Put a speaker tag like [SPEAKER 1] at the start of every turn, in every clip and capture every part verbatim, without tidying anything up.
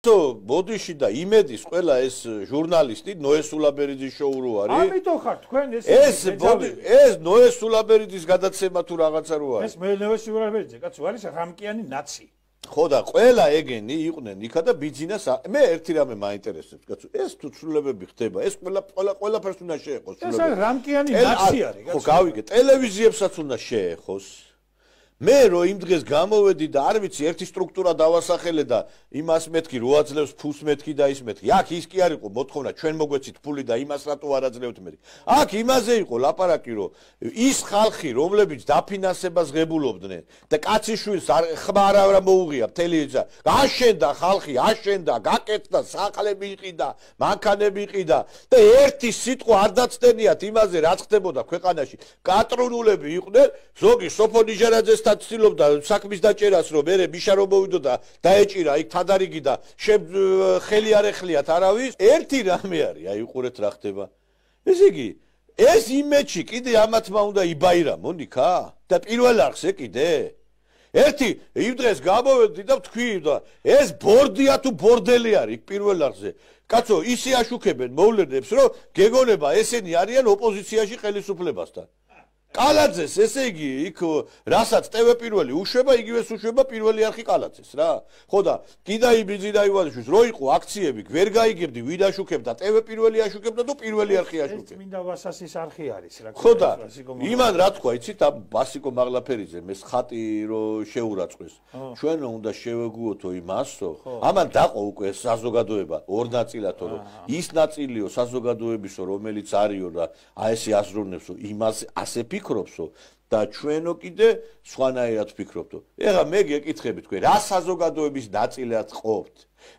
[SPEAKER 1] ბოდიში და იმედის ყველა ეს ჟურნალისტი ნოე სულაბერიძის შოუ რო არის.
[SPEAKER 2] ამიტომ ხარ თქვენ ეს
[SPEAKER 1] ეს ბოდი ეს ნოე სულაბერიძის გადაცემა თუ რაღაცა რო არის.
[SPEAKER 2] ეს მე ნოე სულაბერიძე კაცო არის რამკიანი ნაცი.
[SPEAKER 1] ხო და ყველა ეგენი იყვნენ იქა და ბიძინას მე ერთი რამე მაინტერესებს კაცო ეს თუ ცვლილებები ხდება ეს ყველა ყველა ყველაფერს უნდა შეეხოს
[SPEAKER 2] ცვლილებები. ეს რამკიანი ნაცი არის კაცო.
[SPEAKER 1] ხო გავიგე ტელევიზიებსაც უნდა შეეხოს. მე რო იმ დღეს გამოვედი და არ ვიცი ერთი სტრუქტურა დავასახელე და იმას მეთქი რო აძლევს ფულს მეთქი და ის მეთქი. აქ ის კი არ იყო მოთხოვნა ჩვენ მოგვეცით ფული და იმას რატო არ აძლევთ მეთქი. აქ იმაზე იყო ლაპარაკი რომ ის ხალხი რომლებიც დაფინანსებას ღებულობდნენ და კაციშვილს ხმარ არ მოუღია მთელი ეძა. აშენდა ხალხი, აშენდა, გაკეთდა, საყლები იყიდა, მანქანები იყიდა და ერთი სიტყვა არ დაცდენიათ იმაზე რაც ხდებოდა ქვეყანაში. კატრონულები იყვნენ, ზოგი სოფონიჟარაძეს ცდილობდა საქმის დაჭერას რომ მე მიშა რომ მოვიდოდა დაეჭირა იქ თადარიგი და ხელი არ ეხლიათ არავის ერთი რამე არის აი უყურეთ რა ხდება ესე იგი ეს იმეჩი კიდე ამათმა უნდა იბაირამონ იქა და პირველ არხზე კიდე ერთი იმ დღეს გამოვედი და თქვი და ეს ბორდია თუ ბორდელი არის პირველ არხზე კაცო ისე აშუქებენ მოვლენებს რომ გეგონება ესენი არიან ოპოზიციაში ხელისუფლებასთან კალაძეს ესე იგი იქ რასაც ტევ პირველი უშვება იგივეს უშვება პირველი არხი კალაძეს რა ხო და კიდაი ბიძინა ივანიშვილს რო იყო აქციები ვერ გაიგებდი ვინ აშუქებდა ტევ პირველი აშუქებდა თუ პირველი არხი აშუქებდა
[SPEAKER 2] ეს მინდა ვასასის არხი არის რა
[SPEAKER 1] ხო და იმან რა თქვა იცით ბასიკო მაღლაფერიძე მე ხატი რო შეურაცხეს ჩვენ უნდა შევეგუოთო იმასო ამან დაყო უკვე საზოგადოება ორ ნაწილათო რომ ის ნაწილიო საზოგადოებისო რომელიც არისო და აი ესე აზროვნებსო იმას ასე ფიქრობსო და ჩვენო კიდე სხვანაირად ფიქრობთო. ეხლა მე გეკითხები თქვენ, რა საზოგადოების ნაწილად ყოფთ?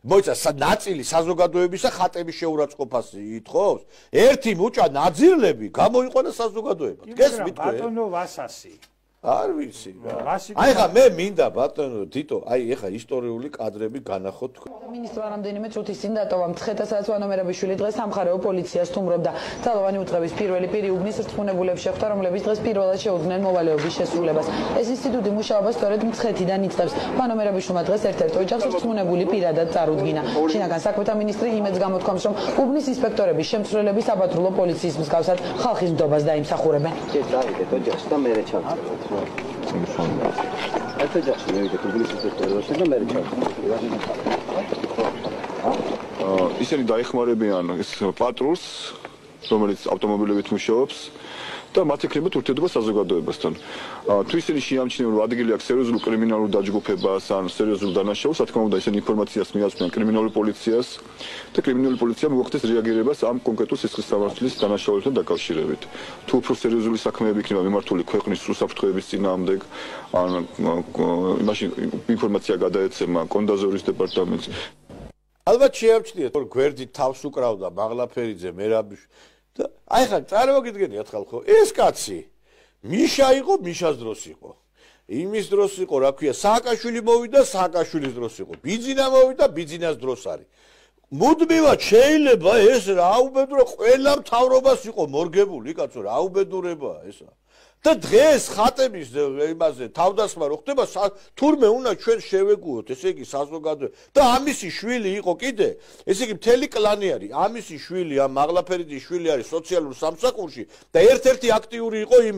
[SPEAKER 1] მოიცა ნაწილი საზოგადოებისა ხატების შეურაცხყოფას ითხოვს? ერთი მუჭა ნაძირლები გამოიყვანა საზოგადოებად. გესმით თქვენ?
[SPEAKER 2] ბატონო ვასასი.
[SPEAKER 1] არ ვიცი რა. აი ხა მე მინდა ბატონო თითო, აი ეხა ისტორიული კადრები განახოთ თქვენ.
[SPEAKER 3] მინისტრო რამოდენიმე წუთის წინ დატოვა მცხეთა სადაც ვანომერაშვილი დღეს სამხარეო პოლიციას თუმრობდა. ძალოვანი უწყების პირველი პირი უბნის რწმუნებულებს შეხვდა, რომლებიც დღეს პირველად შეუდგნენ მოვალეობის შესრულებას. ეს ინსტიტუტი მუშაობას სწორედ მცხეთიდან იწყებს. ვანომერაშვილი დღეს ერთ-ერთ ოჯახს რწმუნებული პირადად წარუდგინა. შინაგან საქმეთა მინისტრი იმედს გამოთქვამს, რომ უბნის ინსპექტორების შემცვლელები საპატრულო პოლიციის მსგავსად ხალხის ნდობას დაიმსახურებენ.
[SPEAKER 4] დავიდეთ ოჯახს და მე ჩავწევთ. ეს ოჯახი მივიდეთ უბნის ინსპექტორებთან და მე ჩავწევთ.
[SPEAKER 5] ისინი დაეხმარებიან ეს პატრულს, რომელიც ავტომობილებით მუშაობს და მათ ექნებათ ურთიერთობა საზოგადოებასთან. თუ ისინი შეამჩნევენ, რომ ადგილი აქვს სერიოზულ კრიმინალურ დაჯგუფებას ან სერიოზულ დანაშაულს, რა თქმა უნდა, ისინი ინფორმაციას მიაწვდიან კრიმინალურ პოლიციას და კრიმინალური პოლიცია მოახდენს რეაგირებას ამ კონკრეტულ სისხლის სამართლის დანაშაულებთან დაკავშირებით. თუ უფრო სერიოზული საქმეები იქნება მიმართული ქვეყნის უსაფრთხოების წინააღმდეგ, ან იმაში ინფორმაცია გადაეცემა კონდაზორის დეპარტამენტს.
[SPEAKER 1] ალბათ შეამჩნიეთ რომ გვერდით თავს უკრავდა მაღლაფერიძე მერაბიშვილი და აი ხა წარმოგიდგენიათ ხალხო ეს კაცი მიშა იყო მიშას დროს იყო იმის დროს იყო რა ქვია სააკაშვილი მოვიდა სააკაშვილის დროს იყო ბიძინა მოვიდა ბიძინას დროს არის მუდმივად შეიძლება ეს რა უბედურება ყველა მთავრობას იყო მორგებული კაცო რა უბედურებაა ესა და დღეს ხატების იმაზე თავდასხმა რო ხდება თურმე უნდა ჩვენ შევეგუოთ ესე იგი საზოგადოება და ამისი შვილი იყო კიდე ესე იგი მთელი კლანი არის ამისი შვილი ამ მაღლაფერიძის შვილი არის სოციალურ სამსახურში და ერთ-ერთი აქტიური იყო იმ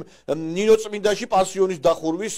[SPEAKER 1] ნინო წმინდაში პანსიონის დახურვის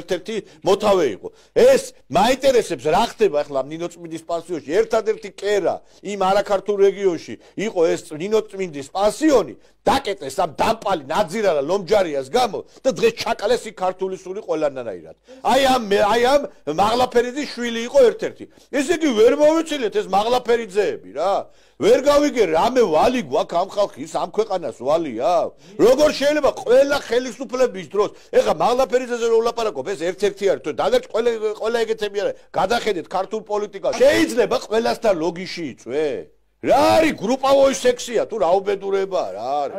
[SPEAKER 1] ერთ-ერთი მოთავე იყო ეს მაინტერესებს რა ხდება ახლა ნინო წმინდის პანსიონში ერთადერთი კერა იმ არაქართულ რეგიონში იყო ეს ნინო წმინდის პანსიონი დაკეტეს ამ დამპალი ნაძირალა ლომჯარიას გამო და დღეს ჩაკალეს იქ ქართული სული ყველანაირად. აი ამ აი ამ მაღლაფერიძის შვილი იყო ერთ-ერთი. ესე იგი ვერ მოვიცილეთ ეს მაღლაფერიძეები რა. ვერ გავიგე რამე ვალი გვაქვს ამ ხალხის ამ ქვეყანას ვალი აქვს. როგორ შეიძლება ყველა ხელისუფლების დროს ეხა მაღლაფერიძეზე რო ვლაპარაკობ ეს ერთ-ერთი არის თუ დადარჩ ყველა ყველა ეგეთები არის. გადახედეთ ქართულ პოლიტიკას. შეიძლება ყველასთან ლოგიში იწვე? რა არის გრუპავოი სექსია თუ რა უბედურებაა რა არის